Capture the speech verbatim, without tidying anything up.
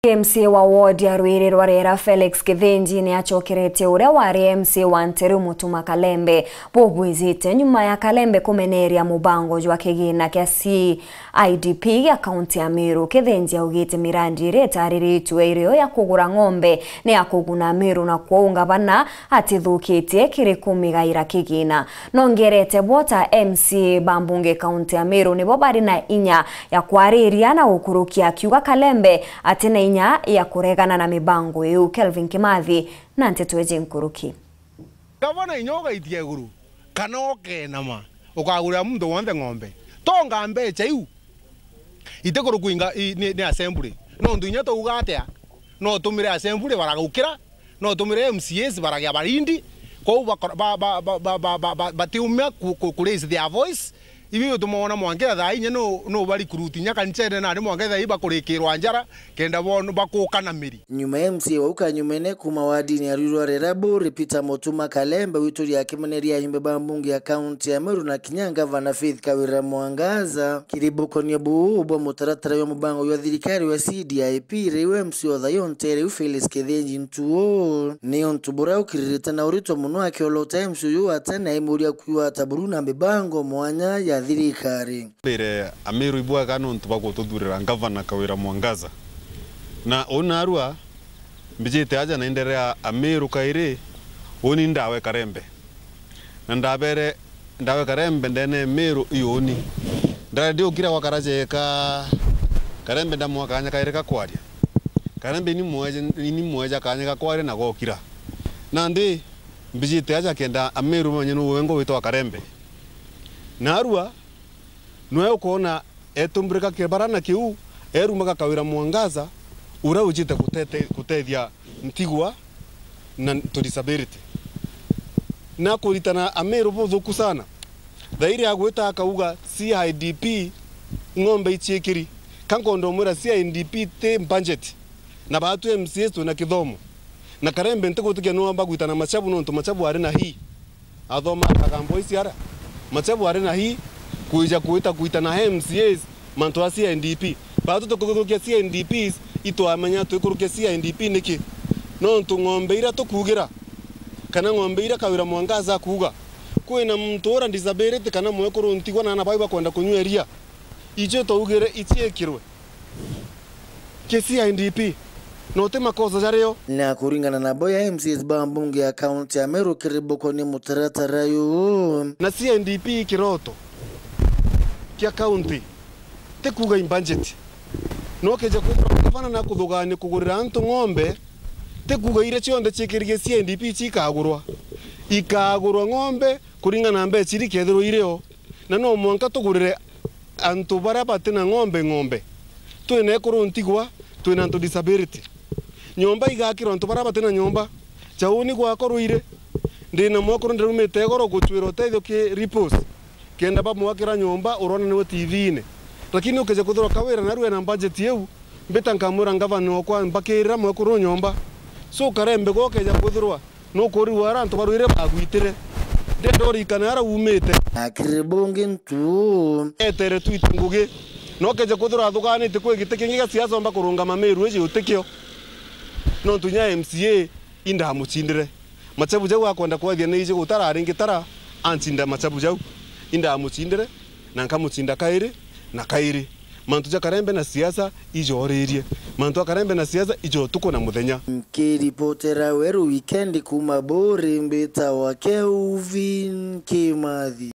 M C A wa ward ya Rwiri rwa Rera, Felix Kithinji, ni acokeretie uria wari M C A wa Nteru, Mutuma Kalembe, bubwijite nyuma ya Kalembe kumeneria mubango jwa kigina kia C I D P gia kaunti ya Meru. Kithinji augite mirandi iria itariritue iri yo ya kugura ng'ombe ni ya kuguna Meru, na kwou ngavana atithukitie kiri kumigaira kigina. Nongerete bo ta M C A ba mbunge kaunti ya Meru nibo bari na inya ya kwariria na gukurukia, akiuga Kalembe ati na inya ya kuregana na mibango iu. Kelvin Kimathi na nteto iji nkuruki. Gavana, inya ugaitia iguru kana ukenama, ukagurira muntu wonthe ng'ombe. Tonga mbecha iu itikurukua inga-, i-, ni, ni assembly. Nontu inya twauga atia, no utumire assembly baragukira, no utumire M C As baragia barindi, kwou bakora-, ba-, ba-, batiumia ku, ku, ku raise their voice. Ibi bituma wona mwanka thaa inya no, no ba recruit inya kanicene nandi mwanka thaa ii bakurikirwa njara, kenda bon-, bakuka na miri. Nyuma ya M C A wau kanyumene kuuma wadini ya Rwiri rwa Rera, Buri Peter Mutuma Kalembe, wituria akimeneria aimbe ba mbunge ya kaunti ya Meru na kinya ngavana Faith Kawira Mwangaza. Kiri bukonia buu bwa mutaratara jwa mubango jwa thirikari wa C D I P, riu M C A o thayo ntere iu Felix Kithinji Ntuo, ni untu buria ukiririte na urito mono akiolota M C A uyu wa tene aimuria kwiwa ata buru na mibango mwanya ya thirikari. Mbere, Ameru ibwega nontu bwa gututhurira ngavana Kawira Mwangaza. Na uu narua mbijite aja na inderea Ameru kairi, uni ndawe Karembe. Na ndabere, ndawe Karembe ndene Meru iuni. Ndari ndiukira gwa karaja eka Karembe ndamwa kanya kairi ka kwaria. Karembe ini mweja, ini mweja kanya ka kwaria na gokira. Nandi mbijite aja kenda Ameru mamenye nu wengo witwa Karembe. Narua, nwe ukoona etumbirika kibara na kiu, erumaga Kawira Mwangaza, uria ujite kutete-, kutethia ntigwa na to disability. Na kuritana Ameru buthuku sana. Thairi agwita akauga C I D P ng'ombe iciikiri. Ka nkondo mwira C I D P ti budget. Na baatu M C As twina kithomo. Na Karembe ntigutikia niwamba gwitana Machabu nontu Machabu ari na hii. Athoma akaga boys ara. Machabu ari na hii kwija kwita kwita na M C As mantu a C I D P. Baatu tukuthukia C I D Ps itwamenya twikurukia C I D P niki? Nontu ng'ombe ira tukuugira, kana ng'ombe ira Kawira Mwangaza akuuga, kwina muntu ura disability kana mwekuru ntigwa na ana bawe bakwenda kunywa iria. Icio twaugire iciikirwe ki C I D P, na uti makosa jario. Na kuringana na bo ya M C As ba mbunge ya kaunti ya Meru kiri bukonia mutaratara uyu. Na C I D P i kiroto kia kaunti, ti kuuga i budget. No ukija kwithirwa gavana na kuthugania kugurira antu ng'ombe, ti kuuga iria cionthe ciikiririe C I D P cikagurwa. Ikagurwa ng'ombe kuringana na mbeca iria ikethirwa irio. Na no mwanka tugurire antu baria bati na ng'ombe ng'ombe. Twina ekuru ntigwa, twina antu disability. Nyomba igakirwa antu baria bati na nyomba. Jauni gwakwa Ruiri, ndina mwekuru ndirumite igoro gucwira utethio ki Ripples, kenda bamwakira nyomba urona niwe T V-ini. Lakini ukija kwithirwa Kawira narua ena budget iu, mbita nkamwira ngavana okwa mbakirira mwekuru nyomba. So Karembe gwa ukeja kwithirwa nukurigwa ara antu ba Ruiri bagwitire. Ndenda urikane ara umite. Akiri bungi ntu. Etere twite ngugi. Na ukeja kwithirwa athuganite kwi giti kingi gia siasa omba kurungama Meru iji utikio. Nontu inya M C A indamucindire. Machabu jau akwenda kwethia ni iji gutara ringi tara ancinda machabu jau. Indamucindire na nkamucinda kairi na kairi. Mantu ja Karembe na siasa ijooririe. Mantu a Karembe na siasa ijo utuku na muthenya. Nkiripotera Weru Weekend kuuma Buri, mbitawa Kelvin Kimathi.